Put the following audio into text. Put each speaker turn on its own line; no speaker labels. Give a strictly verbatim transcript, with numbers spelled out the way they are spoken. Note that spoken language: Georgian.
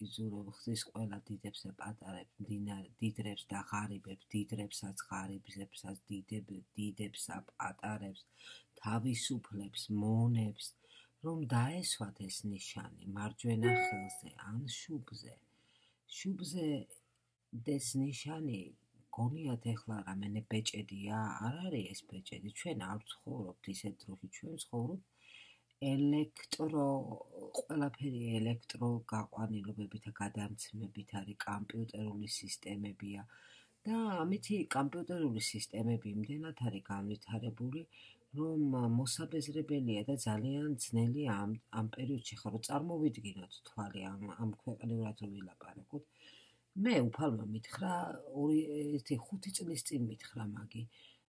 იზურებ ხდის ყველა დიდებს და პატარებს, დიდრებს და ღარიბებს, დიდრებსაც, ღარიბებსაც, დიდებსა, პატარებს, თავისუფლებს, მონებს, რომ დაესვათ ეს ნიშანი მარჯვენა ხელზე ან შუბზე. შუბზე ეს ნიშანი გონიათ ეხლა რამენე ბეჭედია, არ არის ეს ბეჭედი, ჩვენ არ ვცხოვრობთ ისეთ დროში, ჩვენ ვცხოვრობთ ელექტრო, ყველაფერი ელექტრო გაყვანილობებით და გადამცემებით არის, კომპიუტერული სისტემებია და ამითი კომპიუტერული სისტემები იმდენად არის განვითარებული, რომ მოსაბეზრებელია და ძალიან ძნელია ამ ამ პერიოდში ხარ რომ წარმოვიდგინოთ თვალი ამ ამ ქვეყნიურად რომ ვილაპარაკოთ. მე უფალმა მითხრა ორი ერთი ხუთი წლის წინ მითხრა მაგი